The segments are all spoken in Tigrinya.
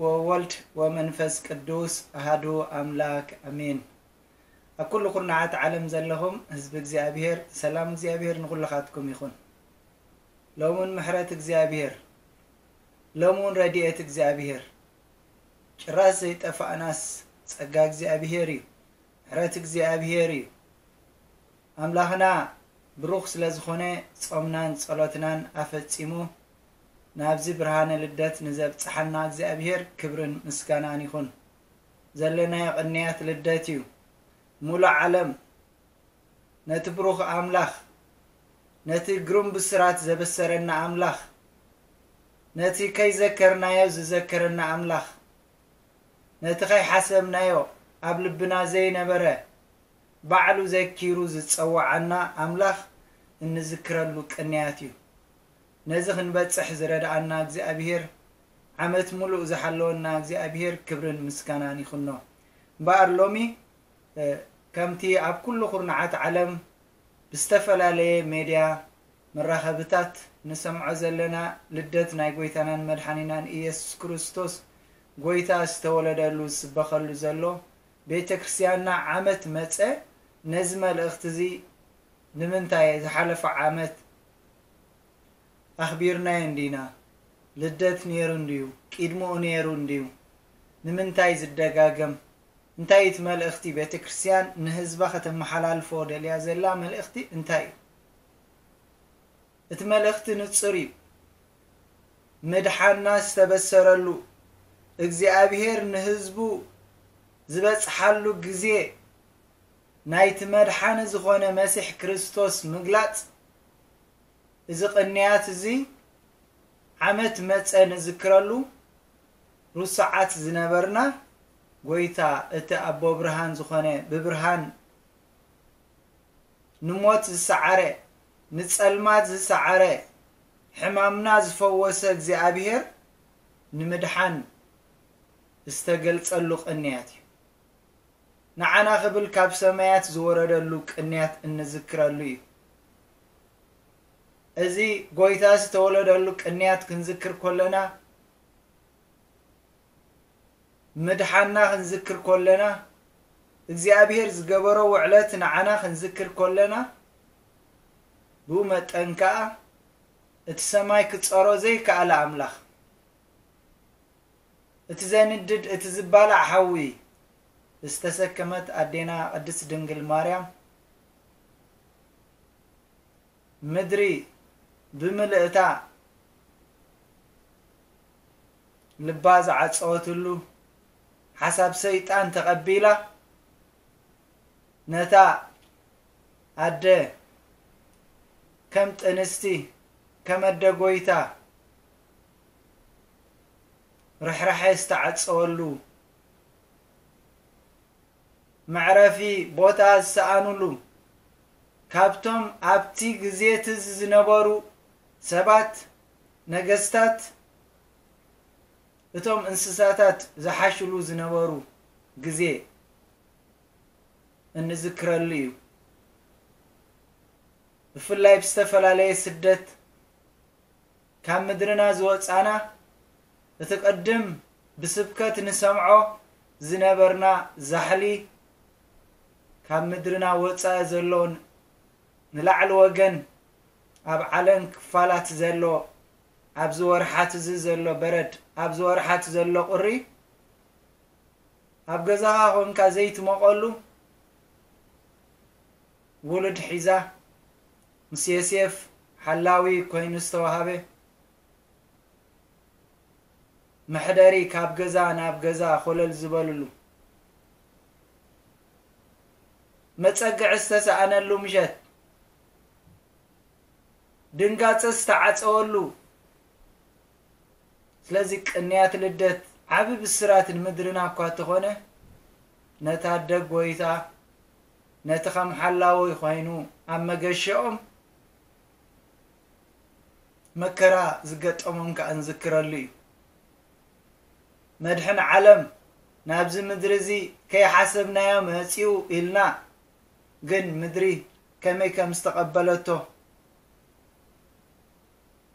ወወልድ ወመንፈስ ቅዱስ ኣሃዱ ኣምላክ ኣሜን። ኣብ ኩሉ ኩርናዓት ዓለም ዘለኹም ህዝቢ እግዚኣብሔር፣ ሰላም እግዚኣብሔር ንኹልኻትኩም ይኹን። ሎሙን ምሕረት እግዚኣብሔር፣ ሎሙን ረድኤት እግዚኣብሔር፣ ጭራስ ዘይጠፋእናስ ጸጋ እግዚኣብሔር እዩ። ምሕረት እግዚኣብሔር እዩ። ኣምላኽና ብሩኽ ስለ ዝኾነ፣ ጾምናን ጸሎትናን ኣፈጺሙ ናብዚ ብርሃነ ልደት ንዘብጽሓና እግዚኣብሔር ክብርን ምስጋናን ይኹን። ዘለናዮ ቅንያት ልደት እዩ። ሙሉእ ዓለም ነቲ ብሩኽ ኣምላኽ፣ ነቲ ግሩም ብስራት ዘበሰረና ኣምላኽ፣ ነቲ ከይዘከርናዮ ዝዘከረና ኣምላኽ፣ ነቲ ከይሓሰብናዮ ኣብ ልብና ዘይነበረ ባዕሉ ዘኪሩ ዝጸውዓና ኣምላኽ እንዝክረሉ ቅንያት እዩ። ነዚ ክንበጽሕ ዝረድኣና እግዚኣብሔር፣ ዓመት ሙሉእ ዝሓለወና እግዚኣብሔር ክብርን ምስጋናን ይኹኖ። እምበኣር ሎሚ፣ እ፣ ከምቲ ኣብ ኩሉ ኩርናዓት ዓለም ብዝተፈላለየ ሜድያ መራኸብታት ንሰምዖ ዘለና ልደት ናይ ጎይታናን መድሓኒናን ኢየሱስ ክርስቶስ፣ ጎይታ ዝተወለደሉ ዝስበኸሉ ዘሎ፣ ቤተ ክርስቲያንና ዓመት መጸ፣ ነዚ መልእኽቲ እዚ ንምንታይ ዝሓለፈ ዓመት ኣኽቢርናዮ እንዲና? ልደት ነይሩ እንድዩ፣ ቂድምኡ ነይሩ እንድዩ። ንምንታይ ዝደጋገም? እንታይ እቲ መልእኽቲ? ቤተ ክርስቲያን ንህዝባ ከተመሓላልፎ ደልያ ዘላ መልእኽቲ እንታይ እዩ? እቲ መልእኽቲ ንጹር እዩ። ምድሓንና ዝተበሰረሉ፣ እግዚኣብሔር ንህዝቡ ዝበጽሓሉ ግዜ፣ ናይቲ መድሓኒ ዝኾነ መሲሕ ክርስቶስ ምግላጽ፣ እዚ ቅንያት እዚ ዓመት መጸ ንዝክረሉ፣ ርሱዓት ዝነበርና፣ ጎይታ እቲ ኣቦ ብርሃን ዝኾነ፣ ብብርሃን ንሞት ዝሰዓረ፣ ንጸልማት ዝሰዓረ፣ ሕማምና ዝፈወሰ እግዚኣብሔር ንምድሓን ዝተገልጸሉ ቅንያት እዩ። ንዓና ክብል ካብ ሰማያት ዝወረደሉ ቅንያት እንዝክረሉ እዩ። እዚ ጎይታ ዝተወለደሉ ቅንያት ክንዝክር ከለና፣ ምድሓንና ክንዝክር ከለና፣ እግዚኣብሔር ዝገበሮ ውዕለት ንዓና ክንዝክር ከለና፣ ብኡ መጠን ከኣ እቲ ሰማይ ክጸሮ ዘይከኣለ ኣምላኽ፣ እቲ ዘንድድ፣ እቲ ዝባላዕ ሓዊ ዝተሰከመት ኣዴና ቅድስት ድንግል ማርያም፣ ምድሪ ብምልእታ ልባ ዝዓጸወትሉ፣ ሓሳብ ሰይጣን ተቐቢላ፣ ነታ ኣደ ከም ጥንስቲ፣ ከም ኣደ ጎይታ ርሕራሐ ዝተዓጸወሉ፣ መዕረፊ ቦታ ዝሰኣኑሉ፣ ካብቶም ኣብቲ ግዜ እቲ ዝነበሩ ሰባት፣ ነገስታት፣ እቶም እንስሳታት ዝሓሽሉ ዝነበሩ ግዜ እንዝክረሉ እዩ። ብፍላይ ብዝተፈላለየ ስደት ካብ ምድርና ዝወጻና፣ እቲ ቅድም ብስብከት ንሰምዖ ዝነበርና ዛሕሊ፣ ካብ ምድርና ወጻኢ ዘሎ፣ ንላዕሊ ወገን ኣብ ዓለም ክፋላት ዘሎ፣ ኣብዚ ወርሓት እዚ ዘሎ በረድ፣ ኣብዚ ወርሓት ዘሎ ቁሪ፣ ኣብ ገዛኻ ኮንካ ዘይትሞቐሉ፣ ውሉድ ሒዛ፣ ምስ ዮሴፍ ሓላዊ ኮይኑ ዝተዋሃበ፣ መሕደሪ ካብ ገዛ ናብ ገዛ ኮለል ዝበልሉ፣ መጸግዒ ዝተሰኣነሉ ምሸት፣ ድንጋጸ ዝተዓጸወሉ። ስለዚ ቅንያት ልደት ዓቢ ብስራት ንምድርና እኳ እንተኾነ፣ ነታ ኣደ ጎይታ፣ ነቲ ከም ሓላዊ ኮይኑ ኣብ መገሸኦም መከራ ዝገጠሞም ከኣ ንዝክረሉ እዩ። መድሕን ዓለም ናብዚ ምድሪ እዚ ከይሓሰብናዮ መጺኡ ኢልና፣ ግን ምድሪ ከመይ ከም ዝተቐበለቶ፣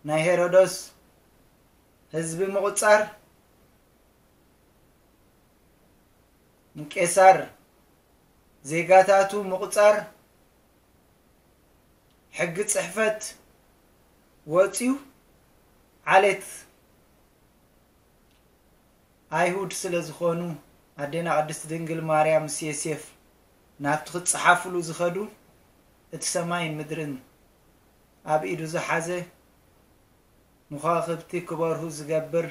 ናይ ሄሮዶስ ህዝቢ ምቑጻር፣ ንቄሳር ዜጋታቱ ምቑጻር ሕጊ ጽሕፈት ወጺኡ ዓሌት ኣይሁድ ስለ ዝኾኑ ኣዴና ቅድስት ድንግል ማርያም ምስ ዮሴፍ ናብቲ ክጸሓፍሉ ዝኸዱ እቲ ሰማይን ምድርን ኣብ ኢዱ ዝሓዘ ንኳኽብቲ ክበርሁ ዝገብር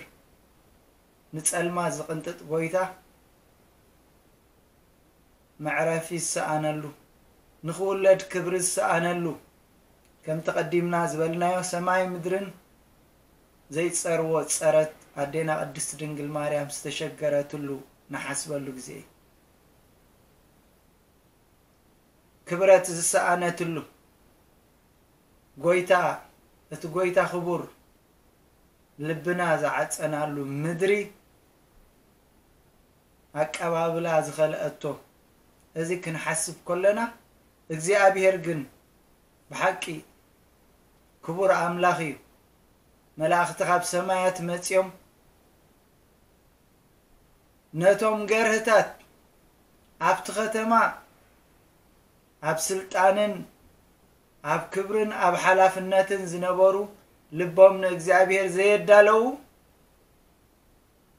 ንጸልማ ዝቕንጥጥ ጎይታ መዕረፊ ዝሰኣነሉ ንኽውለድ ክብሪ ዝሰኣነሉ ከምቲ ቀዲምና ዝበልናዮ ሰማይ ምድርን ዘይጸርዎ ጸረት ኣዴና ቅድስት ድንግል ማርያም ዝተሸገረትሉ ንሓስበሉ ግዜ እዩ። ክብረት ዝሰኣነትሉ ጎይታ እቲ ጎይታ ክቡር ልብና ዝዓጸናሉ ምድሪ ኣቀባብላ ዝኸልአቶ እዚ ክንሓስብ ከለና እግዚኣብሔር ግን ብሓቂ ክቡር ኣምላኽ እዩ። መላእኽቲ ካብ ሰማያት መጺኦም ነቶም ገርህታት ኣብቲ ከተማ ኣብ ስልጣንን ኣብ ክብርን ኣብ ሓላፍነትን ዝነበሩ ልቦም ንእግዚኣብሔር ዘየዳለዉ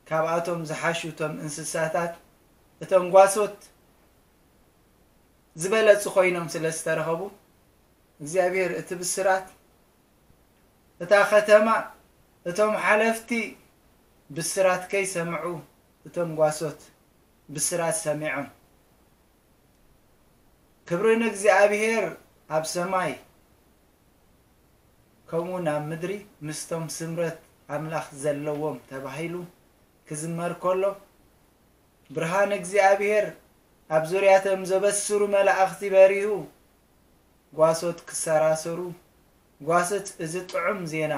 ካብኣቶም ዝሓሹ እቶም እንስሳታት እቶም ጓሶት ዝበለጹ ኮይኖም ስለ ዝተረኸቡ እግዚኣብሔር እቲ ብስራት እታ ከተማ እቶም ሓለፍቲ ብስራት ከይሰምዑ እቶም ጓሶት ብስራት ሰሚዖም ክብሪ ንእግዚኣብሔር ኣብ ሰማይ ከምኡ ናብ ምድሪ ምስቶም ስምረት ኣምላኽ ዘለዎም ተባሂሉ ክዝመር ከሎ ብርሃን እግዚኣብሔር ኣብ ዙርያቶም ዘበስሩ መላእኽቲ በሪሁ ጓሶት ክሰራሰሩ ጓሶት እዚ ጥዑም ዜና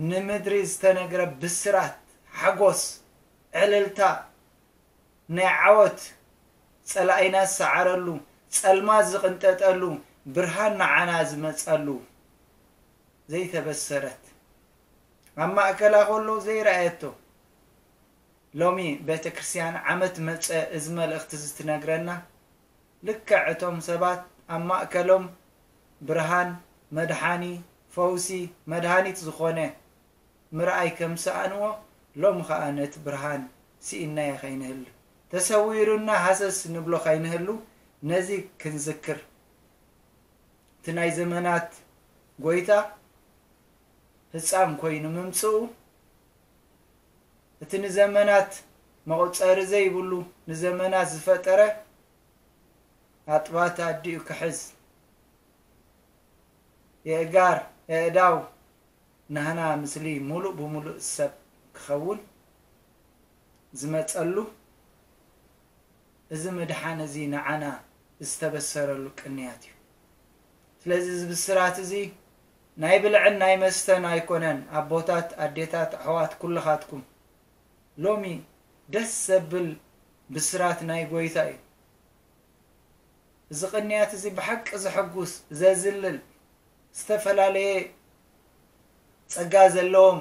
ንምድሪ ዝተነግረ ብስራት ሓጎስ ዕልልታ ናይ ዓወት ጸላኢና ዝሰዓረሉ ጸልማት ዝቕንጠጠሉ ብርሃን ንዓና ዝመጸሉ ዘይተበሰረት ኣብ ማእከላ ከሎ ዘይረኣየቶ ሎሚ ቤተ ክርስቲያን ዓመት መጸ እዚ መልእኽቲ እዚ ትነግረና ልክዕ እቶም ሰባት ኣብ ማእከሎም ብርሃን መድሓኒ ፈውሲ መድሃኒት ዝኾነ ምርኣይ ከም ሰኣንዎ ሎም ኸኣ ነቲ ብርሃን ስኢናዮ ኸይንህሉ ተሰዊሩና ሃሰስ ንብሎ ኸይንህሉ ነዚ ክንዝክር እቲ ናይ ዘመናት ጎይታ ህፃን ኮይኑ ምምፅኡ እቲ ንዘመናት መቑፀሪ ዘይብሉ ንዘመናት ዝፈጠረ ኣጥባት ኣዲኡ ክሕዝ የእጋር የእዳው ናህና ምስሊ ሙሉእ ብሙሉእ ሰብ ክኸውን ዝመፀሉ እዚ ምድሓን እዚ ንዓና ዝተበሰረሉ ቅንያት እዩ። ስለዚ እዚ ብስራት እዚ ናይ ብልዕን ናይ መስተን ኣይኮነን። ኣቦታት፣ ኣዴታት፣ ኣሕዋት ኩልኻትኩም ሎሚ ደስ ዘብል ብስራት ናይ ጎይታ እዩ። እዚ ቅንያት እዚ ብሓቂ ዘሐጉስ ዘዝልል ዝተፈላለየ ጸጋ ዘለዎም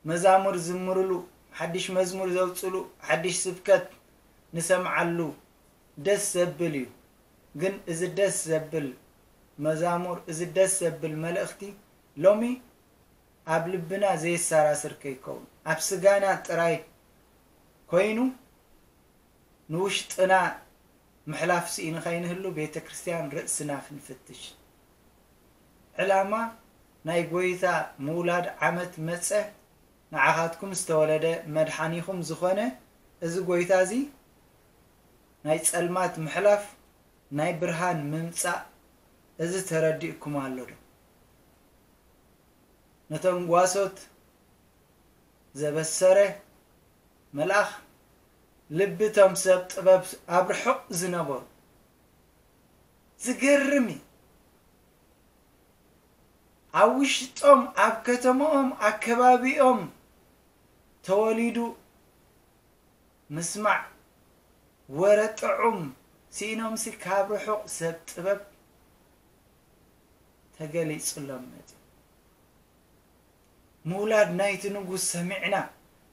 መዛሙር ዝምርሉ ሓድሽ መዝሙር ዘውፅሉ ሓድሽ ስብከት ንሰምዓሉ ደስ ዘብል እዩ። ግን እዚ ደስ ዘብል መዛሙር እዚ ደስ ዘብል መልእኽቲ ሎሚ ኣብ ልብና ዘየሰራስር ከይከውን ኣብ ስጋና ጥራይ ኮይኑ ንውሽጥና ምሕላፍ ስኢኑ ከይንህሉ ቤተ ክርስቲያን ርእስና ክንፍትሽ። ዕላማ ናይ ጎይታ ምውላድ ዓመት መጸ ንዓኻትኩም ዝተወለደ መድሓኒኹም ዝኾነ እዚ ጎይታ እዚ ናይ ጸልማት ምሕላፍ ናይ ብርሃን ምምጻእ እዚ ተረዲእኩም ኣሎ ዶ? ነቶም ጓሶት ዘበሰረ መልኣኽ ልቢ እቶም ሰብ ጥበብ ኣብ ርሑቕ ዝነበሩ ዝገርም እዩ። ኣብ ውሽጦም ኣብ ከተማኦም ኣከባቢኦም ተወሊዱ ምስማዕ ወረ ጥዑም ስኢኖምሲ ካብ ርሑቕ ሰብ ጥበብ ተገሊጹሎም መጺኡ። ምውላድ ናይቲ ንጉስ ሰሚዕና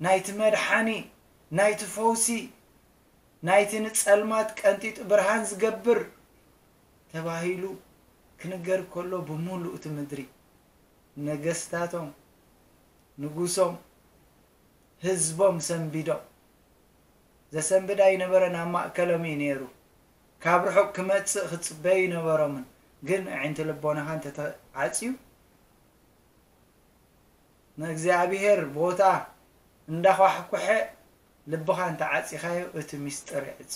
ናይቲ መድሓኒ ናይቲ ፈውሲ ናይቲ ንጸልማት ቀንጢጡ ብርሃን ዝገብር ተባሂሉ ክንገር ከሎ፣ ብምሉእ እቲ ምድሪ ነገስታቶም፣ ንጉሶም፣ ህዝቦም ሰንቢዶም። ዘሰንብድ ኣይነበረን፣ ኣብ ማእከሎም እዩ ነይሩ። ካብ ርሑቕ ክመጽእ ክጽበዩ ኣይነበሮምን። ግን ኣዒንቲ ልቦናኻ እንተተዓጽዩ፣ ንእግዚኣብሔር ቦታ እንዳኳሕኩሐ ልብኻ እንተዓጺኻዮ፣ እቲ ሚስጥር ይዕጾ።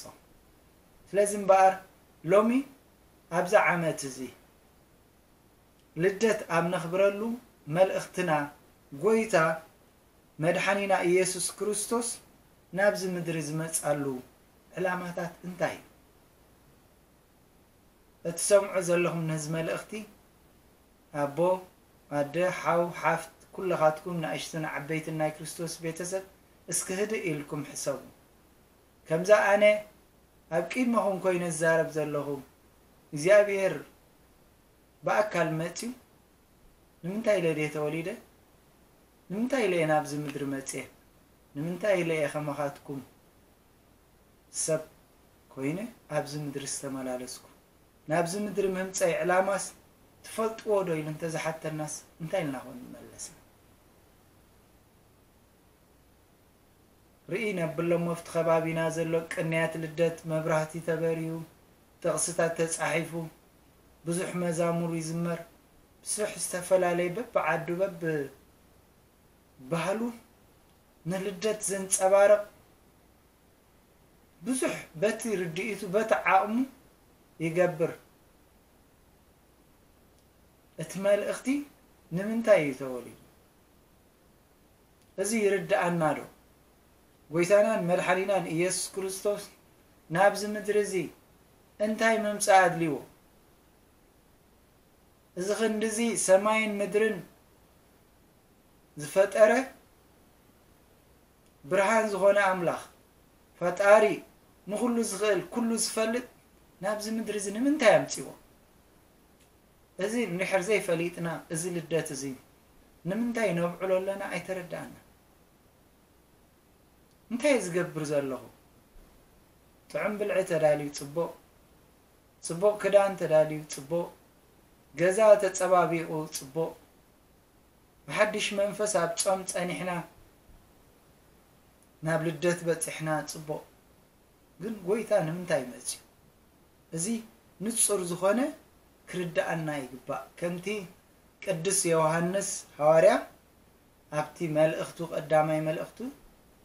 ስለዚ እምበኣር፣ ሎሚ ኣብዚ ዓመት እዚ ልደት ኣብ ነኽብረሉ፣ መልእኽትና ጎይታ መድሓኒና ኢየሱስ ክርስቶስ ናብዚ ምድሪ ዝመጻሉ ዕላማታት እንታይ እዩ? እትሰምዑ ዘለኹም ነዚ መልእኽቲ፣ ኣቦ፣ ኣደ፣ ሓው፣ ሓፍት፣ ኩለኻትኩም ንኣሽቱን ዓበይትን ናይ ክርስቶስ ቤተሰብ፣ እስኪ ህድእ ኢልኩም ሕሰቡ። ከምዛ ኣነ ኣብ ቅድመኹም ኮይነ ዝዛረብ ዘለኹ፣ እግዚኣብሔር ብኣካል መጺኡ፣ ንምንታይ ኢለ ድየ ተወሊደ? ንምንታይ ኢለ እየ ናብዚ ምድሪ መጽየ? ንምንታይ ኢለ እየ ከማኻትኩም ሰብ ኮይነ ኣብዚ ምድሪ ዝተመላለስኩ? ናብዚ ምድሪ ምምጸይ ዕላማስ ትፈልጥዎ ዶ? ኢሉ እንተዝሓተናስ እንታይ ኢልና ኮን ንመለስ? ርኢ ነብሎ እሞ ኣብቲ ከባቢና ዘሎ ቅንያት ልደት መብራህቲ ተበርዩ፣ ጥቕስታት ተጻሒፉ፣ ብዙሕ መዛሙር ይዝመር፣ ብዙሕ ዝተፈላለየ በብዓዱ በብባህሉ ንልደት ዘንጸባርቕ ብዙሕ በቲ ርድኢቱ በቲ ዓቕሙ ይገብር። እቲ መልእኽቲ ንምንታይ እዩ ተወሊዱ? እዚ ይርድኣና ዶ? ጎይታናን መድሓኒናን ኢየሱስ ክርስቶስ ናብዚ ምድሪ እዚ እንታይ ምምጻእ ኣድልይዎ? እዚ ክንድዚ ሰማይን ምድርን ዝፈጠረ ብርሃን ዝኾነ ኣምላኽ፣ ፈጣሪ፣ ንኹሉ ዝኽእል፣ ኩሉ ዝፈልጥ፣ ናብዚ ምድሪ እዚ ንምንታይ ኣምጺዎ? እዚ እንድሕር ዘይፈሊጥና፣ እዚ ልደት እዚ ንምንታይ ነብዕሎ ኣለና ኣይተረድኣና። እንታይ እየ ዝገብር ዘለኹ? ጥዑም ብልዒ ተዳልዩ ጽቡቕ፣ ጽቡቕ ክዳን ተዳልዩ ጽቡቕ፣ ገዛ ተጸባቢቑ ጽቡቕ፣ ብሓድሽ መንፈስ ኣብ ጾም ጸኒሕና፣ ናብ ልደት በጺሕና ጽቡቕ። ግን ጎይታ ንምንታይ መጺኡ? እዚ ንጹር ዝኾነ ክርድኣና ይግባእ። ከምቲ ቅዱስ ዮሃንስ ሃዋርያ ኣብቲ መልእኽቱ፣ ቀዳማይ መልእኽቱ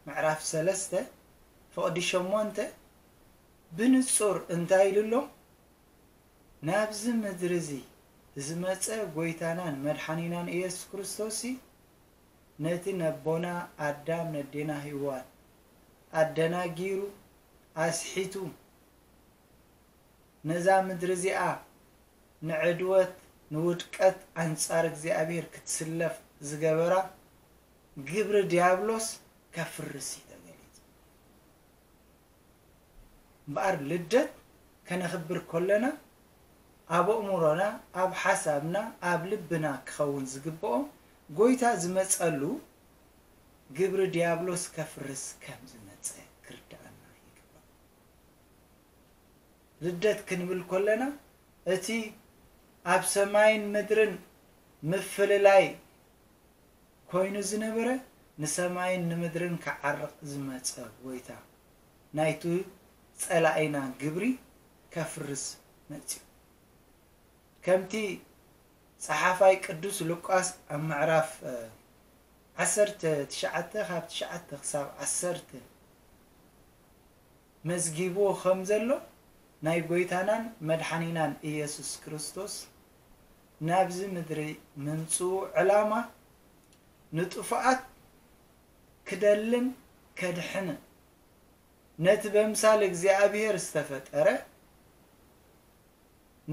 ምዕራፍ ሰለስተ ፍቕዲ ሸሞንተ ብንጹር እንታይ ኢሉ ኣሎ? ናብዚ ምድሪ እዚ ዝመጸ ጎይታናን መድሓኒናን ኢየሱስ ክርስቶስ ነቲ ነቦና ኣዳም ነዴና ሄዋን ኣደናጊሩ ኣስሒቱ ነዛ ምድሪ እዚኣ ንዕድወት ንውድቀት ኣንጻር እግዚኣብሔር ክትስለፍ ዝገበራ ግብሪ ዲያብሎስ ከፍርስ እዩ ተገሊጹ። እምበኣር ልደት ከነኽብር ከለና ኣብ ኣእምሮና፣ ኣብ ሓሳብና፣ ኣብ ልብና ክኸውን ዝግብኦ ጎይታ ዝመጸሉ ግብሪ ዲያብሎስ ከፍርስ ከም ዝመጸ ክርድኣና ይግባእ። ልደት ክንብል ከለና እቲ ኣብ ሰማይን ምድርን ምፍልላይ ኮይኑ ዝነበረ ንሰማይን ንምድርን ክዓርቕ ዝመጸ ጎይታ ናይቱ ጸላኢና ግብሪ ከፍርስ መጺኡ። ከምቲ ጸሓፋይ ቅዱስ ሉቃስ ኣብ ምዕራፍ ዓሰርተ ትሽዓተ ካብ ትሽዓተ ክሳብ ዓሰርተ መዝጊብዎ ከም ዘሎ ናይ ጎይታናን መድሓኒናን ኢየሱስ ክርስቶስ ናብዚ ምድሪ ምምጽኡ ዕላማ ንጥፉኣት ክደልን ከድሕንን ነቲ በምሳል እግዚኣብሔር ዝተፈጠረ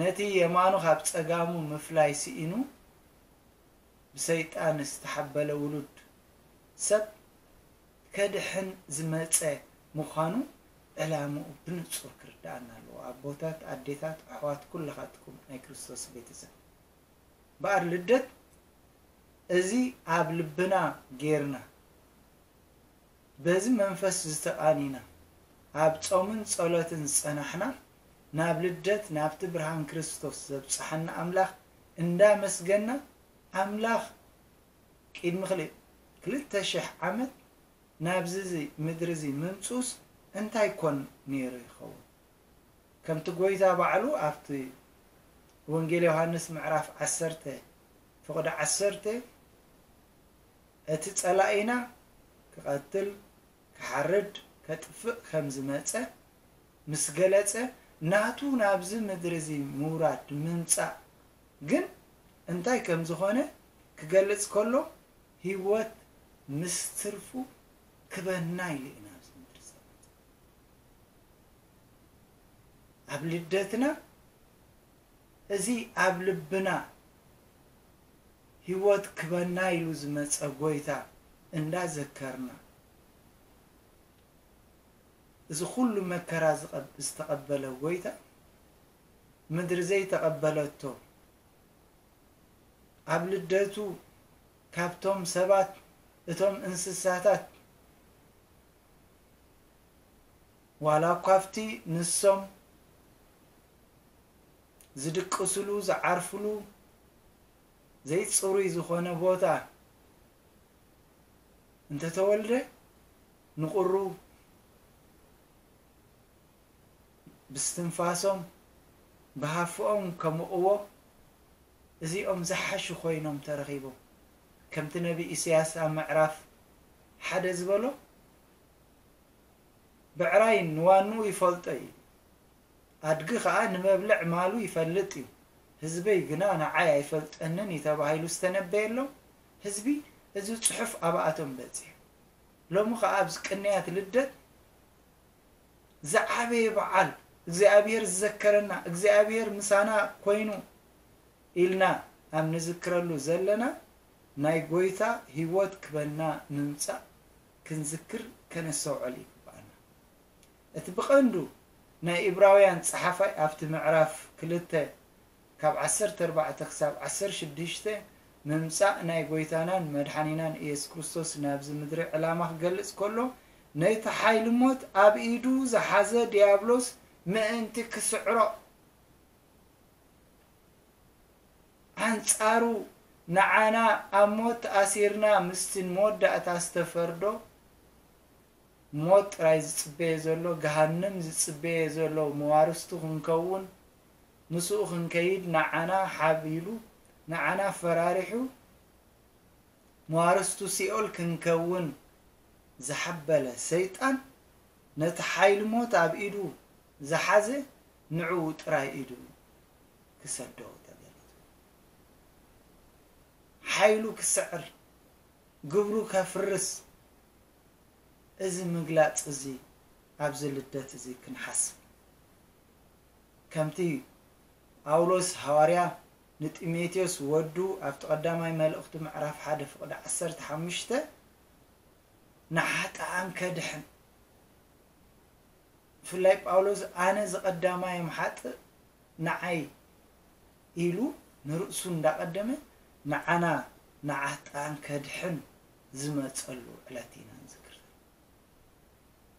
ነቲ የማኑ ካብ ጸጋሙ ምፍላይ ስኢኑ ብሰይጣን ዝተሓበለ ውሉድ ሰብ ከድሕን ዝመጸ ምዃኑ ዕላምኡ ብንጹር ክርድኣና ኣለዎ። ኣቦታት፣ ኣዴታት፣ ኣሕዋት፣ ኩልኻትኩም ናይ ክርስቶስ ቤተሰብ፣ በኣር ልደት እዚ ኣብ ልብና ጌርና በዚ መንፈስ ዝተቓኒና ኣብ ጾምን ጸሎትን ዝጸናሕና፣ ናብ ልደት ናብቲ ብርሃን ክርስቶስ ዘብጽሓና ኣምላኽ እንዳመስገና፣ ኣምላኽ ቅድሚ ክልተ ሽሕ ዓመት ናብዚ እዚ ምድሪ እዚ ምምጽኡስ እንታይ ኮን ነይሩ ይኸውን? ከምቲ ጎይታ ባዕሉ ኣብቲ ወንጌል ዮሃንስ ምዕራፍ ዓሰርተ ፍቕዲ ዓሰርተ፣ እቲ ጸላኢና ክቐትል፣ ክሓርድ፣ ከጥፍእ ከም ዝመጸ ምስ ገለጸ፣ ናቱ ናብዚ ምድሪ እዚ ምውራድ፣ ምምጻእ ግን እንታይ ከም ዝኾነ ክገልጽ ከሎ፣ ህይወት ምስ ትርፉ ክበና ኢሉ እዩ ናብዚ ምድሪ ዝመጸ። ኣብ ልደትና እዚ ኣብ ልብና ህይወት ክበና ኢሉ ዝመጸ ጎይታ እንዳዘከርና፣ እዚ ኩሉ መከራ ዝቐብ-፣ ዝተቐበለ ጎይታ፣ ምድሪ ዘይተቐበለቶ፣ ኣብ ልደቱ ካብቶም ሰባት እቶም እንስሳታት ዋላ እኳ ኣብቲ ንሶም ዝድቅስሉ፣ ዝዓርፍሉ ዘይጽሩይ ዝኾነ ቦታ እንተተወልደ፣ ንቑሩ ብስትንፋሶም፣ ብሃፍኦም ከምቕዎ፣ እዚኦም ዝሓሹ ኮይኖም ተረኺቦም። ከምቲ ነቢ ኢሳያስ ኣብ ምዕራፍ ሓደ ዝበሎ፣ ብዕራይ ንዋንኡ ይፈልጦ እዩ፣ ኣድጊ ኸኣ ንመብልዕ ማሉ ይፈልጥ እዩ፣ ህዝበይ ግና ንዓይ ኣይፈልጠንን እዩ ተባሂሉ ዝተነበየሎም ህዝቢ፣ እዚ ጽሑፍ ኣብኣቶም በጺሑ። ሎሚ ኸኣ ኣብዚ ቅንያት ልደት ዝዓበየ በዓል፣ እግዚኣብሔር ዝዘከረና፣ እግዚኣብሔር ምሳና ኮይኑ ኢልና ኣብ ንዝክረሉ ዘለና ናይ ጎይታ ህይወት ክበና ምምጻእ ክንዝክር ከነስተውዕል ይግብኣና። እቲ ብቐንዱ ናይ ኢብራውያን ጸሓፋይ ኣብቲ ምዕራፍ ክልተ ካብ ዓሰርተ ኣርባዕተ ክሳብ ዓሰርተ ሽዱሽተ ምምጻእ ናይ ጎይታናን መድሓኒናን ኢየሱስ ክርስቶስ ናብዚ ምድሪ ዕላማ ክገልጽ ከሎ፣ ነቲ ሓይሊ ሞት ኣብ ኢዱ ዝሓዘ ዲያብሎስ ምእንቲ ክስዕሮ፣ ኣንጻሩ ንዓና ኣብ ሞት ተኣሲርና ምስቲ ንመወዳእታ ዝተፈርዶ ሞት ጥራይ ዝጽበየ ዘሎ፣ ገሃነም ዝጽበየ ዘሎ መዋርስቱ ክንከውን፣ ምስኡ ክንከይድ ንዓና ሓቢሉ፣ ንዓና ፈራሪሑ፣ መዋርስቱ ሲኦል ክንከውን ዝሓበለ ሰይጣን፣ ነቲ ሓይሊ ሞት ኣብ ኢዱ ዝሓዘ ንዕኡ ጥራይ ኢዱ ክሰዶ ተገሊጹ። ሓይሉ ክስዕር፣ ግብሩ ከፍርስ፣ እዚ ምግላጽ እዚ ኣብዚ ልደት እዚ ክንሓስብ። ከምቲ ጳውሎስ ሃዋርያ ንጢሞቴዎስ ወዱ ኣብቲ ቀዳማይ መልእኽቱ ምዕራፍ ሓደ ፍቕዲ ዓሰርተ ሓሙሽተ ንሓጥኣን ከድሕን፣ ብፍላይ ጳውሎስ ኣነ ዝቐዳማዮም ሓጥእ ንዓይ ኢሉ ንርእሱ እንዳቐደመ ንዓና ንሓጥኣን ከድሕን ዝመጸሉ ዕለት ኢና ንዝክር።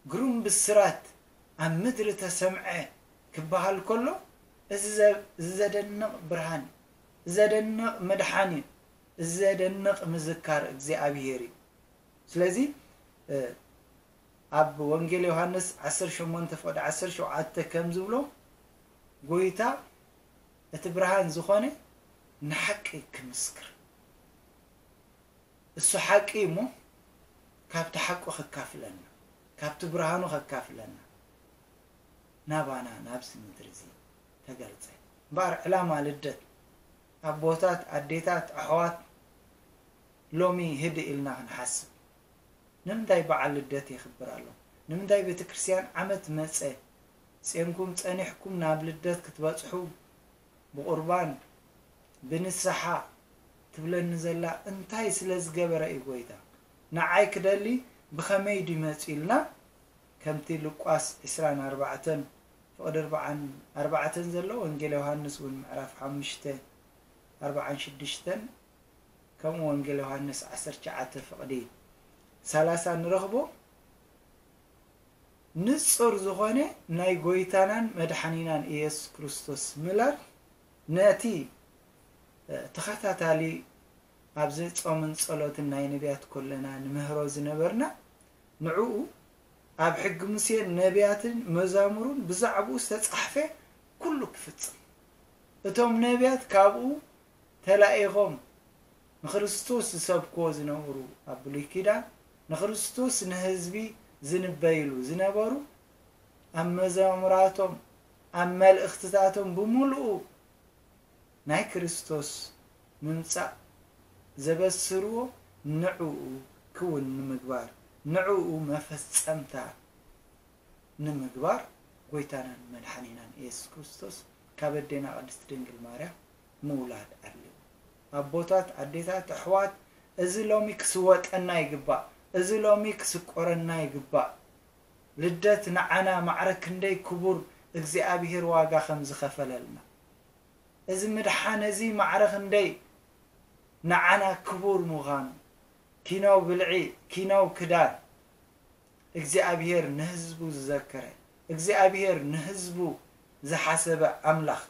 ግሩም ብስራት ኣብ ምድሪ ተሰምዐ ክበሃል ከሎ፣ እዚ ዘ-፣ እዚ ዘደንቕ ብርሃን እዩ፣ እዚ ዘደንቕ ምድሓን እዩ፣ እዚ ዘደንቕ ምዝካር እግዚኣብሔር እዩ። ስለዚ፣ እ፣ ኣብ ወንጌል ዮሃንስ ዓሰርተ ሸሞንተ ፍቕዲ ዓሰርተ ሸውዓተ ከም ዝብሎ፣ ጎይታ እቲ ብርሃን ዝኾነ ንሓቂ ክምስክር። እሱ ሓቂ እሞ ካብቲ ሓቁ ከካፍለና፣ ካብቲ ብርሃኑ ከካፍለና ናባና ናብዚ ምድሪ እዚ ተገልጸ። እምበኣር ዕላማ ልደት ኣቦታት፣ ኣዴታት፣ ኣሕዋት ሎሚ ህድእ ኢልና ክንሓስብ። ንምንታይ በዓል ልደት የኽብር ኣሎ? ንምንታይ ቤተ ክርስቲያን ዓመት መጸ ጼምኩም ጸኒሕኩም ናብ ልደት ክትበጽሑ ብቑርባን ብንስሓ ትብለኒ ዘላ እንታይ ስለ ዝገበረ እዩ ጎይታ? ንዓይ ክደሊ ብኸመይ ድዩ መጺኡ ኢልና ከምቲ ሉቃስ ዕስራን ኣርባዕተን ፍቕዲ ኣርባዓን ኣርባዕተን ዘሎ ወንጌል ዮሃንስ እውን ምዕራፍ ሓሙሽተ ኣርባዓን ሽዱሽተን ከምኡ ወንጌል ዮሃንስ ዓሰርተ ትሽዓተ ፍቕዲ ሰላሳ ንረኽቦ። ንጹር ዝኾነ ናይ ጎይታናን መድሓኒናን ኢየሱስ ክርስቶስ ምላድ ነቲ ተኸታታሊ ኣብዚ ጾምን ጸሎትን ናይ ነቢያት ኮለና ንምህሮ ዝነበርና፣ ንዕኡ ኣብ ሕጊ ሙሴን ነቢያትን መዛሙሩን ብዛዕባኡ ዝተጻሕፈ ኩሉ ክፍጽም፣ እቶም ነቢያት ካብኡ ተላኢኾም ንክርስቶስ ዝሰብክዎ ዝነበሩ ኣብ ብሉይ ኪዳን፣ ንክርስቶስ ንህዝቢ ዝንበይሉ ዝነበሩ፣ ኣብ መዛሙራቶም ኣብ መልእኽትታቶም ብምሉኡ ናይ ክርስቶስ ምምጻእ ዘበስርዎ ንዕኡ ክውን ንምግባር፣ ንዕኡ መፈጸምታ ንምግባር ጎይታናን መድሓኒናን ኢየሱስ ክርስቶስ ካብ ኣዴና ቅድስት ድንግል ማርያም ምውላድ ኣድልዩ። ኣቦታት፣ ኣዴታት፣ ኣሕዋት፣ እዚ ሎሚ ክስወጠና ይግባእ። እዚ ሎሚ ክስቆረና ይግባእ። ልደት ንዓና ማዕረ ክንደይ ክቡር እግዚኣብሔር ዋጋ ከም ዝኸፈለልና። እዚ ምድሓን እዚ ማዕረ ክንደይ ንዓና ክቡር ምዃኑ። ኪናው ብልዒ፣ ኪናው ክዳን፣ እግዚኣብሔር ንህዝቡ ዝዘከረ፣ እግዚኣብሔር ንህዝቡ ዝሓሰበ ኣምላኽ።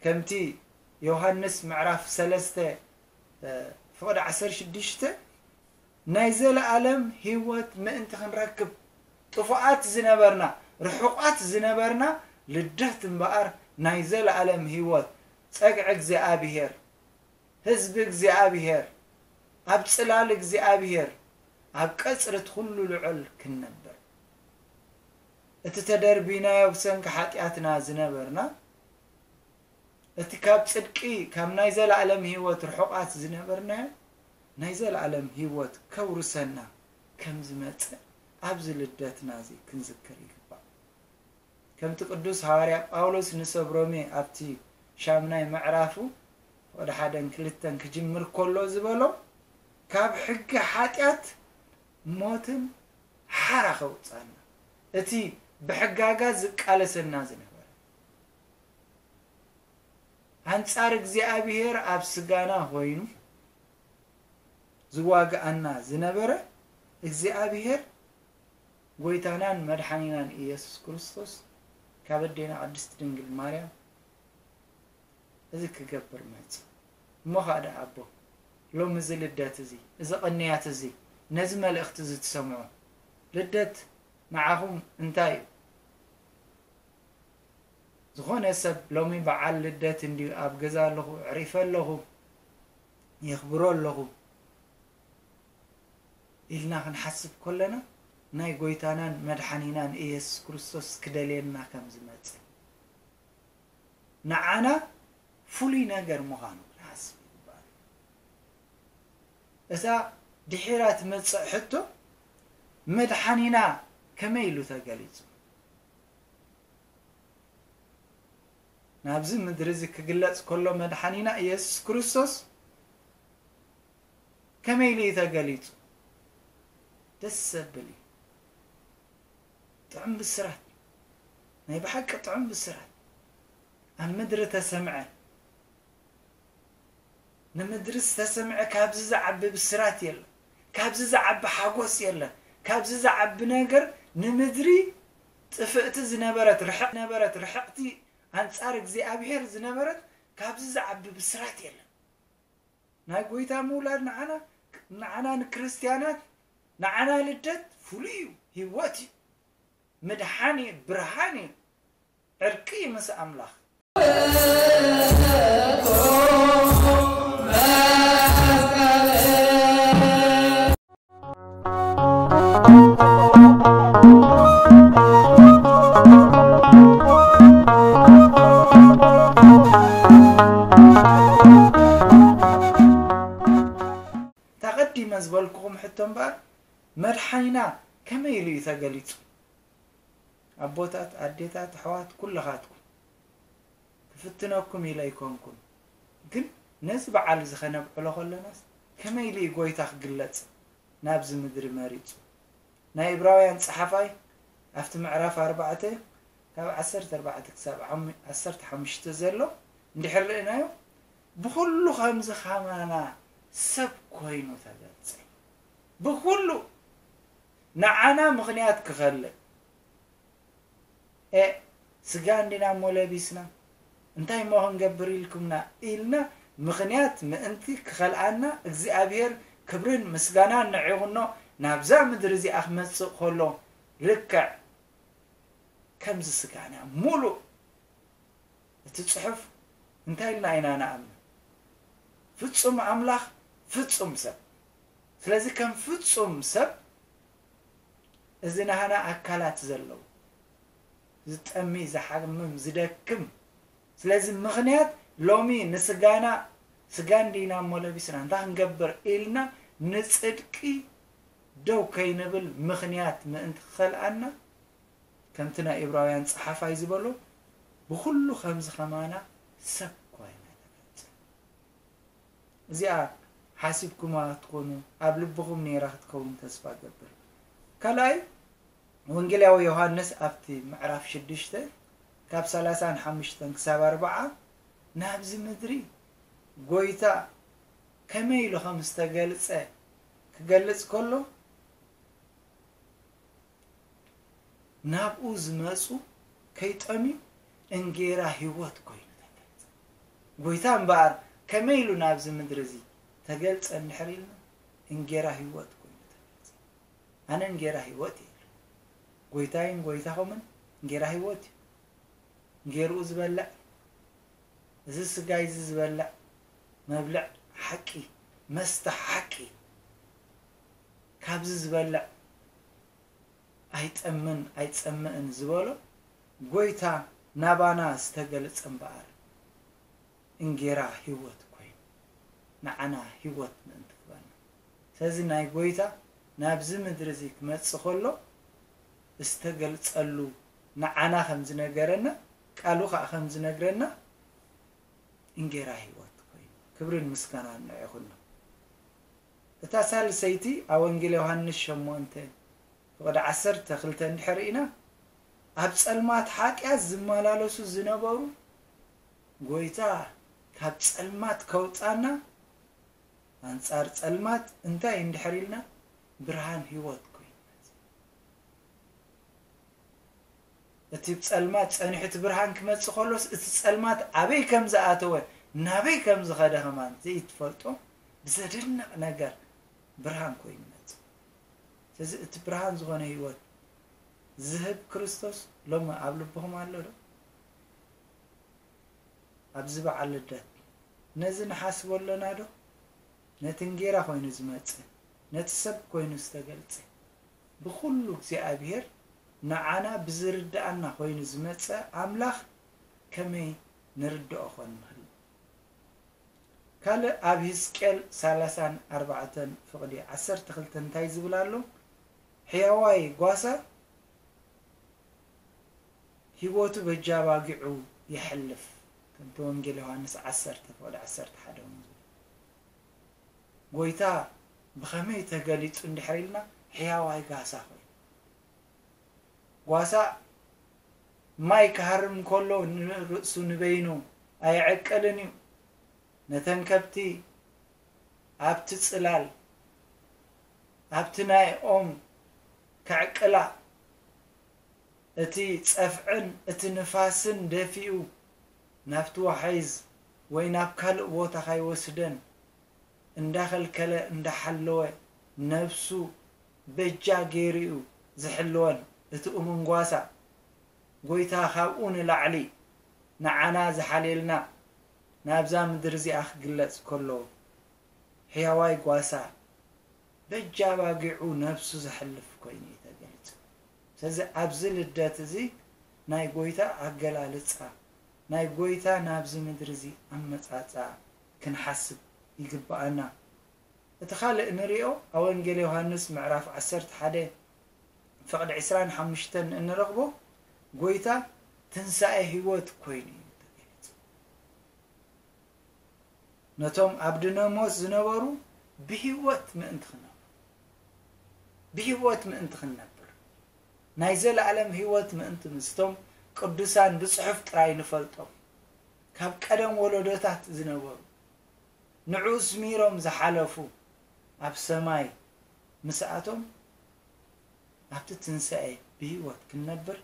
ከምቲ ዮሃንስ ምዕራፍ ሰለስተ ፍቕዲ ዓሰርተ ሽዱሽተ ናይ ዘለኣለም ህይወት ምእንቲ ክንረክብ፣ ጥፉኣት ዝነበርና፣ ርሑቓት ዝነበርና፣ ልደት እምበኣር ናይ ዘለኣለም ህይወት፣ ጸግዒ እግዚኣብሔር፣ ህዝቢ እግዚኣብሔር፣ ኣብ ጽላል እግዚኣብሔር፣ ኣብ ቀጽሪ እቲ ኩሉ ልዑል ክንነብር። እቲ ተደርቢናዮ ብሰንኪ ሓጢኣትና ዝነበርና፣ እቲ ካብ ጽድቂ፣ ካብ ናይ ዘለኣለም ህይወት ርሑቓት ዝነበርናዮ፣ ናይ ዘለኣለም ህይወት ከውርሰና ከም ዝመጽእ ኣብዚ ልደትና እዚ ክንዝክር ይግባእ። ከምቲ ቅዱስ ሃዋርያ ጳውሎስ ንሰብ ሮሜ ኣብቲ ሻምናይ ምዕራፉ ወደ ሓደን ክልተን ክጅምር ከሎ ዝበሎ፣ ካብ ሕጊ ሓጢኣት ሞትን ሓራ ከውጻና፣ እቲ ብሕጋጋ ዝቃለሰና ዝነበረ፣ ኣንጻር እግዚኣብሔር ኣብ ስጋና ኮይኑ ዝዋግኣና ዝነበረ እግዚኣብሔር ጎይታናን መድሓኒናን ኢየሱስ ክርስቶስ ካብ ኣዴና ቅድስት ድንግል ማርያም እዚ ክገብር መጽእ። እሞ ኸኣ ደኣ ኣቦ፣ ሎሚ እዚ ልደት እዚ፣ እዚ ቅንያት እዚ፣ ነዚ መልእኽቲ እዚ ትሰምዑ፣ ልደት ንዓኹም እንታይ እዩ? ዝኾነ ሰብ ሎሚ በዓል ልደት እንድዩ፣ ኣብ ገዛ ኣለኹ፣ ኣዕሪፈ ኣለኹ፣ የኽብሮ ኣለኹ ኢልና ክንሓስብ ከለና፣ ናይ ጎይታናን መድሓኒናን ኢየሱስ ክርስቶስ ክደልየና ከም ዝመጽእ፣ ንዓና ፍሉይ ነገር ምዃኑ ክንሓስብ ይግባእ። እታ ድሒራ ትመጽእ ሕቶ፣ መድሓኒና ከመይ ኢሉ ተገሊጹ? ናብዚ ምድሪ እዚ ክግለጽ ከሎ መድሓኒና ኢየሱስ ክርስቶስ ከመይ ኢሉ እዩ ተገሊጹ? ደስ ዘብል እዩ። ጥዑም ብስራት፣ ናይ ብሓቂ ጥዑም ብስራት ኣብ ምድሪ ተሰምዐ። ንምድሪ ዝተሰምዐ ካብዚ ዝዓቢ ብስራት የለን፣ ካብዚ ዝዓቢ ሓጎስ የለን፣ ካብዚ ዝዓቢ ነገር ንምድሪ ጥፍእቲ ዝነበረት ርሕቕ ነበረት ርሕቕቲ ኣንጻር እግዚኣብሔር ዝነበረት ካብዚ ዝዓቢ ብስራት የለን። ናይ ጎይታ ምውላድ ንዓና ንዓና ንክርስትያናት ንዓና ልደት ፍሉይ እዩ፣ ህይወት እዩ፣ ምድሓን እዩ፣ ብርሃን እዩ፣ ዕርቂ እዩ ምስ ኣምላኽ። ተቐዲመ ዝበልኩኹም ሕቶ እምበኣር፣ መድሓኒና ከመይ ኢሉ እዩ ተገሊጹ? ኣቦታት፣ ኣዴታት፣ ኣሕዋት፣ ኩልኻትኩም፣ ክፍትነኩም ኢለ ኣይኮንኩን፣ ግን ነዚ በዓል እዚ ከነብዕሎ ከለናስ፣ ከመይ ኢሉ እዩ ጎይታ ክግለጽ ናብዚ ምድሪ መሪጹ? ናይ ዕብራውያን ጸሓፋይ ኣብቲ ምዕራፍ ኣርባዕተ ካብ ዓሰርተ ኣርባዕተ ክሳብ ዓም-፣ ዓሰርተ ሓሙሽተ ዘሎ እንድሕር ርኢናዮ፣ ብኹሉ ከምዚ ከማና ሰብ ኮይኑ ተገልጸ። ብኹሉ ንዓና ምኽንያት ክኸልእ፣ ኤ፣ ስጋ እንዲና እሞ ለቢስና፣ እንታይ እሞ ክንገብር ኢልኩምና? ኢልና ምኽንያት ምእንቲ ክኸልኣና እግዚኣብሔር ክብርን ምስጋናን ንዕቑኖ ናብዛ ምድሪ እዚኣ ክመጽእ ከሎ ልክዕ ከምዚ ስጋና ሙሉእ እቲ ጽሑፍ እንታይ ኢልና ኢና ንኣምን? ፍጹም ኣምላኽ፣ ፍጹም ሰብ። ስለዚ ከም ፍጹም ሰብ እዚ ናህና ኣካላት ዘለዉ ዝጠሚ፣ ዝሓምም፣ ዝደክም። ስለዚ ምኽንያት ሎሚ ንስጋና ስጋ እንዲና እሞ ለቢስና እንታይ ክንገብር ኢልና ንጽድቂ ደው ከይንብል ምኽንያት ምእንቲ ክኸልኣና ከምቲ ናይ ኢብራውያን ጸሓፋይ ዝበሎ ብኹሉ ከምዚ ከማና ሰብ ኮይና ተገልጸ። እዚኣ ሓሲብኩማ ትኾኑ ኣብ ልብኹም ነይራ ክትከውን ተስፋ ገብር። ካልኣይ ወንጌላዊ ዮሃንስ ኣብቲ ምዕራፍ ሽዱሽተ ካብ ሰላሳን ሓሙሽተን ክሳብ ኣርብዓ ናብዚ ምድሪ ጎይታ ከመይ ኢሉ ከም ዝተገልጸ ክገልጽ ከሎ ናብኡ ዝመጹ ከይጠምዩ እንጌራ ህይወት ኮይኑ ተገልጸ። ጎይታ እምበኣር ከመይ ኢሉ ናብዚ ምድሪ እዚ ተገልጸ እንድሕር ኢልና እንጌራ ህይወት ኮይኑ ተገልጸ። ኣነ እንጌራ ህይወት እየ ኢሉ። ጎይታይን ጎይታኹምን እንጌራ ህይወት እዩ። እንጌርኡ ዝበልዕ፣ እዚ ስጋይ እዚ ዝበልዕ መብልዕ ሓቂ፣ መስተ ሓቂ፣ ካብዚ ዝበልዕ ኣይጠምን ኣይጸምእን ዝበሎ ጎይታ ናባና ዝተገልጸ እምበኣር እንጌራ ህይወት ኮይኑ ንዓና ህይወት ምእንቲ ክበና። ስለዚ ናይ ጎይታ ናብዚ ምድሪ እዚ ክመጽእ ከሎ ዝተገልጸሉ ንዓና ከም ዝነገረና ቃሉ ከዓ ከም ዝነግረና እንጌራ ህይወት ኮይኑ ክብርን ምስጋናን ንዕኹኖ። እታ ሳልሰይቲ ኣብ ወንጌል ዮሃንስ ሸሞንተ ፍቕዲ ዓሰርተ ክልተ እንድሕር ኢና ኣብ ጸልማት ሓጢኣት ዝመላለሱ ዝነበሩ ጎይታ ካብ ጸልማት ከውጻና ኣንጻር ጸልማት እንታይ እንድሕር ኢልና ብርሃን ህይወት ኮይኑ እቲ ጸልማት ጸኒሑ እቲ ብርሃን ክመጽእ ከሎስ እቲ ጸልማት ኣበይ ከም ዝኣተወ ናበይ ከም ዝኸደ ከማን ዘይትፈልጦ ብዘደንቕ ነገር ብርሃን ኮይኑ መጽእ። ስለዚ እቲ ብርሃን ዝኾነ ህይወት ዝህብ ክርስቶስ ሎሚ ኣብ ልብኹም ኣሎ ዶ? ኣብዚ በዓል ልደት ነዚ ንሓስቦ ኣለና ዶ? ነቲ እንጌራ ኮይኑ ዝመጽእ ነቲ ሰብ ኮይኑ ዝተገልጸ ብኹሉ እግዚኣብሔር ንዓና ብዝርድኣና ኮይኑ ዝመጸ ኣምላኽ ከመይ ንርድኦ ኮን ንኽእል? ካልእ ኣብ ህዝቅኤል ሰላሳን ኣርባዕተን ፍቕዲ ዓሰርተ ክልተ እንታይ ዝብል ኣሎ? ሕያዋይ ጓሳ ህይወቱ በጃ ባጊዑ የሕልፍ። ከምቲ ወንጌል ዮሃንስ ዓሰርተ ፍቕዲ ዓሰርተ ሓደ እውን ዝብል ጎይታ ብኸመይ ተገሊጹ እንድሕር ኢልና ሕያዋይ ጋሳ ኮይኑ ጓሳ ማይ ክሃርም ከሎ ንርእሱ ንበይኑ ኣይዕቅልን እዩ። ነተን ከብቲ ኣብቲ ጽላል ኣብቲ ናይ ኦም ከዕቅላ እቲ ጸፍዕን እቲ ንፋስን ደፊኡ ናብቲ ዋሕዝ ወይ ናብ ካልእ ቦታ ካይወስደን እንዳኸልከለ እንዳሓለወ ነብሱ በጃ ገይሩ እዩ ዝሕልወን። እቲ እሙን ጓሳ ጎይታ ካብኡ ንላዕሊ ንዓና ዝሓልየልና ናብዛ ምድሪ እዚኣ ክግለጽ ከሎ ሕያዋይ ጓሳ በጃ ባጊዑ ነብሱ ዘሕልፍ ኮይኑ እዩ ተገሊጹ። ስለዚ ኣብዚ ልደት እዚ ናይ ጎይታ ኣገላልጻ ናይ ጎይታ ናብዚ ምድሪ እዚ ኣመጻጻ ክንሓስብ ይግብኣና። እቲ ካልእ ንሪኦ ኣብ ወንጌል ዮሃንስ ምዕራፍ ዓሰርተ ሓደ ፍቕዲ ዕስራን ሓሙሽተን እንረኽቦ ጎይታ ትንሳኤ ህይወት ኮይኑ እዩ ተገሊጹ። ነቶም ኣብ ድነሞት ዝነበሩ ብህይወት ምእንቲ ክነብሩ ብህይወት ምእንቲ ክንነብር ናይ ዘለኣለም ህይወት ምእንቲ ምስቶም ቅዱሳን ብጽሑፍ ጥራይ ንፈልጦም ካብ ቀደም ወለዶታት ዝነበሩ ንዑ ስሚሮም ዝሓለፉ ኣብ ሰማይ ምስኣቶም ኣብቲ ትንሳኤ ብህይወት ክንነብር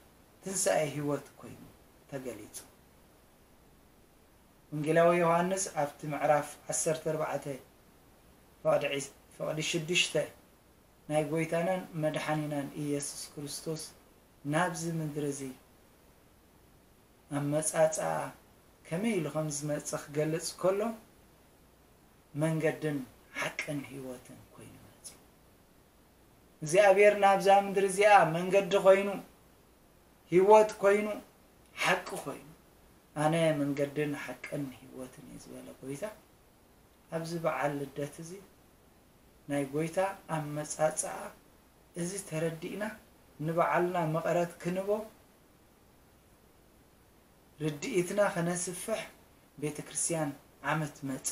ትንሳኤ ህይወት ኮይኑ ተገሊጹ። ወንጌላዊ ዮሃንስ ኣብቲ ምዕራፍ ዓሰርተ ኣርባዕተ ፍቕዲ ዒስ-፣ ፍቕዲ ሽዱሽተ ናይ ጎይታናን መድሓኒናን ኢየሱስ ክርስቶስ ናብዚ ምድሪ እዚ ኣመጻጽኣ ከመይ ኢሉ ከም ዝመጽእ ክገልጽ ከሎ፣ መንገድን ሓቅን ህይወትን ኮይኑ መጺኡ። እግዚኣብሔር ናብዛ ምድሪ እዚኣ መንገዲ ኮይኑ፣ ህይወት ኮይኑ፣ ሓቂ ኮይኑ፣ ኣነ መንገድን ሓቅን ህይወትን እየ ዝበለ ጎይታ፣ ኣብዚ በዓል ልደት እዚ ናይ ጎይታ ኣመጻጽኣ እዚ ተረዲእና ንባዕልና መቐረት ክንቦ ርድኢትና ከነስፍሕ ቤተ ክርስቲያን ዓመት መጸ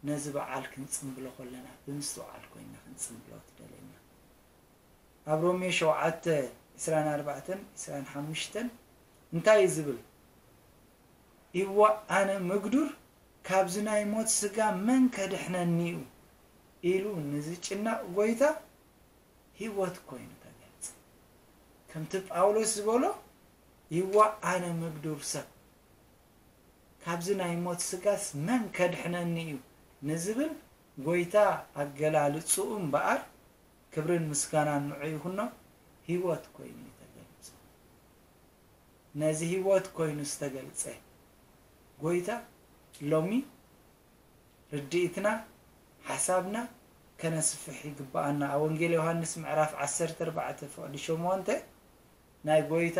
ነዚ በዓል ክንጽምብሎ ከለና ብምስትውዓል ኮይና ክንጽምብሎ ትደለየና። ኣብ ሮሜ ሸውዓተ ዕስራን ኣርባዕተን ዕስራን ሓሙሽተን እንታይ እዩ ዝብል? "እወ ኣነ ምግዱር ካብዚ ናይ ሞት ስጋ መን ከድሕነኒ እዩ?" ኢሉ ንዝጭነቕ ጎይታ ህይወት ኮይኑ ተገልጸ። ከምቲ ጳውሎስ ዝበሎ፣ "ይዋ ኣነ ምግዱር ሰብ፣ ካብዚ ናይ ሞት ስጋስ መን ከድሕነኒ እዩ?" ንዝብል ጎይታ ኣገላልጽኡ እምበኣር፣ ክብርን ምስጋናን ንዑ ይኹኖ፣ ህይወት ኮይኑ እዩ ተገሊጹ። ነዚ ህይወት ኮይኑ ዝተገልጸ ጎይታ ሎሚ ርድኢትና፣ ሓሳብና ከነስፍሕ ይግብኣና። ኣብ ወንጌል ዮሃንስ ምዕራፍ ዓሰርተ ኣርባዕተ ፍቕዲ ሸሞንተ ናይ ጎይታ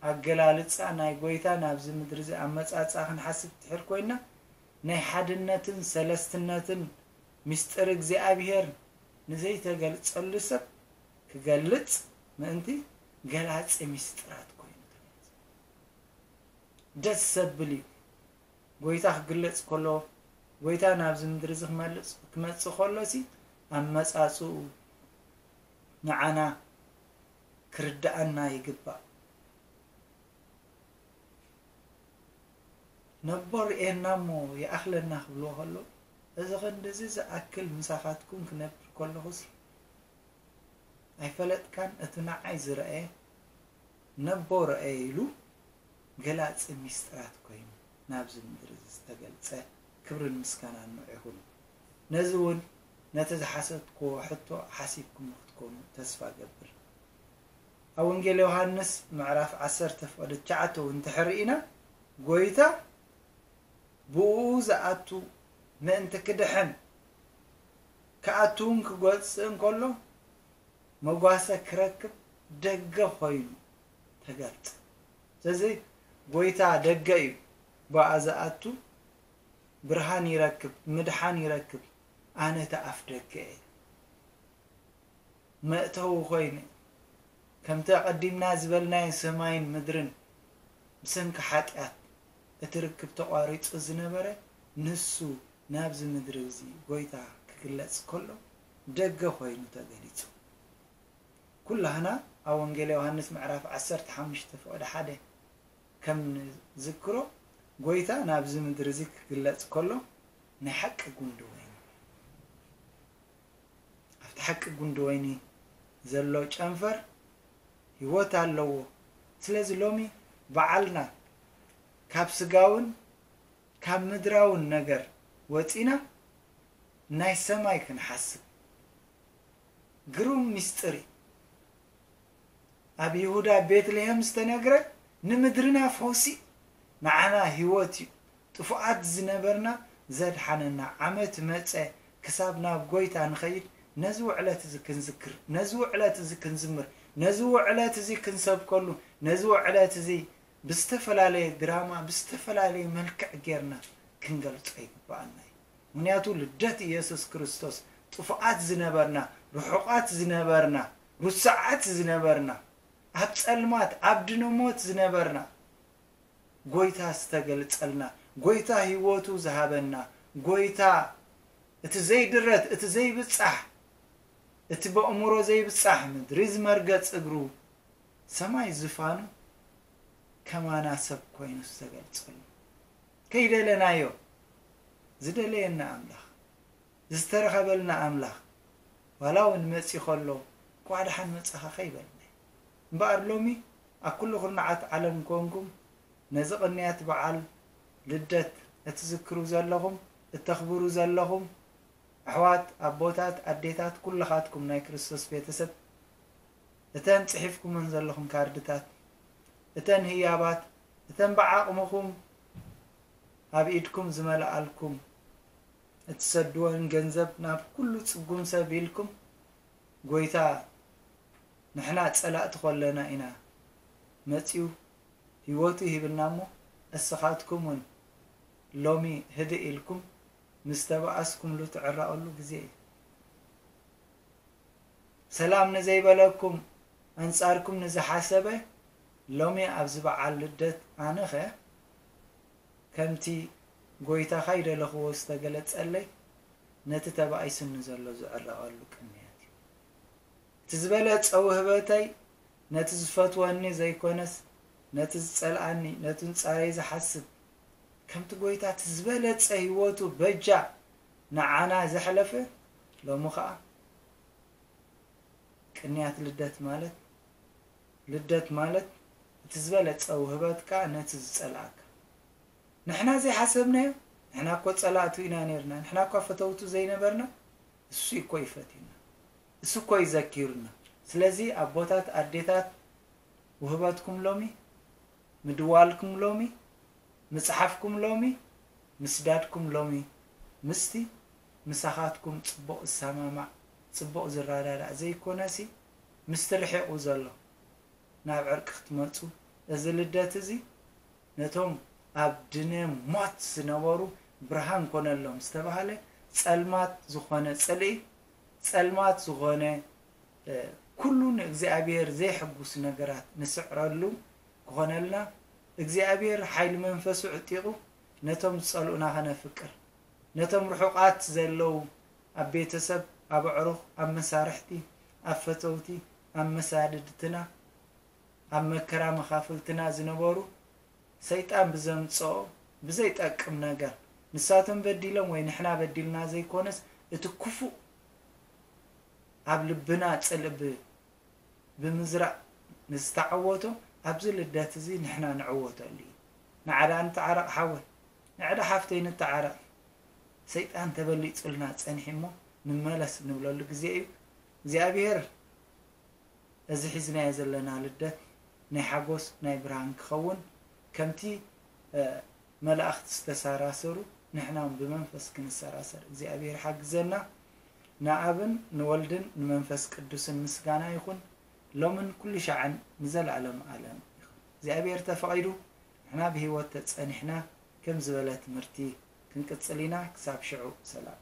ኣገላልጻ፣ ናይ ጎይታ ናብዚ ምድሪ እዚ ኣመጻጽኣ ክንሓስብ ትሕር ኮይና፣ ናይ ሓድነትን ሰለስትነትን ምስጢር እግዚኣብሔር ንዘይተገልጸሉ ሰብ ክገልጽ ምእንቲ ገላጺ ምስጢራት ኮይኑ ተገልጸ። ደስ ዘብል እዩ። ጎይታ ክግለጽ ከሎ፣ ጎይታ ናብዚ ምድሪ እዚ ክመልጽ-፣ ክመጽእ ከሎ ሲ ኣመጻጽኡ ንዓና ክርድኣና ይግባእ። ነቦ ርእየና እሞ ይኣኽለና ክብልዎ ከለዉ፣ እዚ ክንድዚ ዝኣክል ምሳኻትኩም ክነብር ከለኹሲ ኣይፈለጥካን፣ እቲ ንዓይ ዝረኣየ ነቦ ረኣየ ኢሉ ገላጺ ሚስጥራት ኮይኑ ናብዚ ምድሪ እዚ ዝተገልጸ ክብርን ምስጋናን ንዑ ይኹን። ነዚ እውን ነቲ ዝሓሰብክዎ ሕቶ ሓሲብኩሞ ክትኮኑ ተስፋ እገብር። ኣብ ወንጌል ዮሃንስ ምዕራፍ ዓሰርተ ፍቕዲ ትሽዓተ እውን እንድሕር ርኢና፣ ጎይታ ብእኡ ዝኣቱ ምእንቲ ክድሕን ክኣቱ እውን ክጎጽእ እንከሎ፣ መጓሰ ክረክብ ደገ ኮይኑ ተገልጸ። ስለዚ ጎይታ ደገ እዩ፣ ብኣ ዝኣቱ ብርሃን ይረክብ፣ ምድሓን ይረክብ። ኣነ እቲ ኣፍ ደገ እየ። መእተዊ ኮይኑ፣ ከምቲ ኣቐዲምና ዝበልናዮ ሰማይን ምድርን ብሰንኪ ሓጢኣት እቲ ርክብ ተቋሪጹ ዝነበረ፣ ንሱ ናብዚ ምድሪ እዚ ጎይታ ክግለጽ ከሎ ደገ ኮይኑ ተገሊጹ። ኩላህና ኣብ ወንጌል ዮሃንስ ምዕራፍ ዓሰርተ ሓሙሽተ ፍቕዲ ሓደ ከም ንዝክሮ፣ ጎይታ ናብዚ ምድሪ እዚ ክግለጽ ከሎ ናይ ሓቂ ጉንዲ ወይኒ። ኣብቲ ሓቂ ጉንዲ ወይኒ ዘሎ ጨንፈር ህይወት ኣለዎ። ስለዚ ሎሚ በዓልና ካብ ስጋውን ካብ ምድራውን ነገር ወጺና ናይ ሰማይ ክንሓስብ። ግሩም ምስጢር እዩ። ኣብ ይሁዳ ቤትልሔም ዝተነግረ ንምድርና ፈውሲ፣ ንዓና ህይወት እዩ። ጥፉኣት ዝነበርና ዘድሓነና ዓመት መጸ ክሳብ ናብ ጎይታ ንኸይድ ነዚ ውዕለት እዚ ክንዝክር፣ ነዚ ውዕለት እዚ ክንዝምር፣ ነዚ ውዕለት እዚ ክንሰብከሉ፣ ነዚ ውዕለት እዚ ብዝተፈላለየ ድራማ፣ ብዝተፈላለየ መልክዕ ጌርና ክንገልጾ ይግብኣና እዩ። ምኽንያቱ ልደት ኢየሱስ ክርስቶስ ጥፉኣት ዝነበርና፣ ርሑቓት ዝነበርና፣ ርሱዓት ዝነበርና፣ ኣብ ጸልማት፣ ኣብ ድንሞት ዝነበርና፣ ጎይታ ዝተገልጸልና፣ ጎይታ ህይወቱ ዝሃበና፣ ጎይታ እቲ ዘይድረት፣ እቲ ዘይብጻሕ፣ እቲ በእምሮ ዘይብጻሕ፣ ምድሪ ዝመርገጽ እግሩ፣ ሰማይ ዝፋኑ፣ ከማና ሰብ ኮይኑ ዝተገልጸሉ። ከይደለናዮ ዝደለየና ኣምላኽ፣ ዝተረኸበልና ኣምላኽ፣ ዋላ እውን መጺ ከሎ፣ "እንኳዕ ደሓን መጻኻ" ከይበልና። እምበኣር ሎሚ ኣብ ኩሉ ኩርናዓት ዓለም ኮንኩም ነዚ ቅንያት በዓል ልደት እትዝክሩ ዘለኹም፣ እተኽብሩ ዘለኹም ኣሕዋት፣ ኣቦታት፣ ኣዴታት፣ ኩልኻትኩም ናይ ክርስቶስ ቤተሰብ፣ እተን ጽሒፍኩመን ዘለኹም ካርድታት፣ እተን ህያባት፣ እተን ብዓቕምኹም ኣብ ኢድኩም ዝመልኣልኩም፣ እትሰድወን ገንዘብ ናብ ኩሉ ጽጉም ሰብ ኢልኩም፣ ጎይታ ንሕና ጸላእቲ ኮለና ኢና መጺኡ ህይወቱ ሂብና እሞ፣ እስኻትኩም እውን ሎሚ ህድእ ኢልኩም ምስ ተባኣስኩምሉ ትዕረቐሉ ግዜ እዩ። ሰላም ንዘይበለኩም፣ ኣንጻርኩም ንዝሓሰበ፣ ሎሚ ኣብዚ በዓል ልደት ኣነኸ ከምቲ ጎይታ ካይደለኽዎ ዝተገለጸለይ፣ ነቲ ተባኢሱኒ ዘሎ ዝዕረቐሉ ቅንያት እዩ። እቲ ዝበለጸ ውህበተይ ነቲ ዝፈትወኒ ዘይኮነስ፣ ነቲ ዝጸልኣኒ፣ ነቲ ኣንጻረይ ዝሓስብ፣ ከምቲ ጎይታ እቲ ዝበለጸ ህይወቱ በጃ ንዓና ዘሕለፈ፣ ሎሚ ኸኣ ቅንያት ልደት ማለት፣ ልደት ማለት እቲ ዝበለጸ ውህበት ከኣ ነቲ ዝጸልኣካ። ንሕና ዘይሓሰብናዮ፣ ንሕና እኮ ጸላእቱ ኢና ነይርና፣ ንሕና እኳ ፈተውቱ ዘይነበርና፣ እሱ እኮ ይፈትዩና፣ እሱ እኮ ይዘኪሩና። ስለዚ ኣቦታት፣ ኣዴታት፣ ውህበትኩም ሎሚ፣ ምድዋልኩም ሎሚ፣ ምጽሓፍኩም ሎሚ፣ ምስዳድኩም ሎሚ፣ ምስቲ ምሳኻትኩም ጽቡቕ ዝሰማማዕ፣ ጽቡቕ ዝረዳዳእ ዘይኮነሲ፣ ምስቲ ርሒቑ ዘሎ ናብ ዕርቂ ክትመጹ፣ እዚ ልደት እዚ ነቶም ኣብ ድነ ሞት ዝነበሩ ብርሃን ኮነሎም ዝተባህለ፣ ጸልማት ዝኾነ ጽልኢ፣ ጸልማት ዝኾነ፣ እ፣ ኩሉ ንእግዚኣብሔር ዘይሕጉስ ነገራት ንስዕረሉ ክኾነልና፣ እግዚኣብሔር ሓይሊ መንፈሱ ዕጢቑ ነቶም ዝጸልኡና ከነፍቅር፣ ነቶም ርሑቓት ዘለዉ ኣብ ቤተሰብ፣ ኣብ ኣዕሩኽ፣ ኣብ መሳርሕቲ፣ ኣብ ፈተውቲ፣ ኣብ መሳድድትና፣ ኣብ መከራ መኻፍልትና ዝነበሩ ሰይጣን ብዘምጽኦ ብዘይጠቅም ነገር ንሳቶም በዲሎም ወይ ንሕና በዲልና ዘይኮነስ እቲ ክፉእ ኣብ ልብና ጽልኢ ብ-፣ ብምዝራእ ንዝተዓወቶ ኣብዚ ልደት እዚ ንሕና ንዕወተሉ እዩ። ንዓዳ ንተዓረቕ ሓወይ፣ ንዕዳ ሓፍተይ ንተዓረቕ። ሰይጣን ተበሊጹልና ጸኒሑ እሞ ንመለስ ንብለሉ ግዜ እዩ። እግዚኣብሔር እዚ ሒዝናዮ ዘለና ልደት ናይ ሓጎስ ናይ ብርሃን ክኸውን ከምቲ፣ እ፣ መላእኽቲ ዝተሰራሰሩ ንሕና እውን ብመንፈስ ክንሰራሰር እግዚኣብሔር ሓግዘና። ንኣብን ንወልድን ንመንፈስ ቅዱስን ምስጋና ይኹን ሎምን ኩሉ ሻዕን ንዘለዓለም ዓለም ይኹን። እግዚኣብሔር ተፈቒዱ ንሕና ብህይወት ተጸኒሕና ከም ዝበለ ትምህርቲ ክንቅጽል ኢና። ክሳብ ሽዑ ሰላም።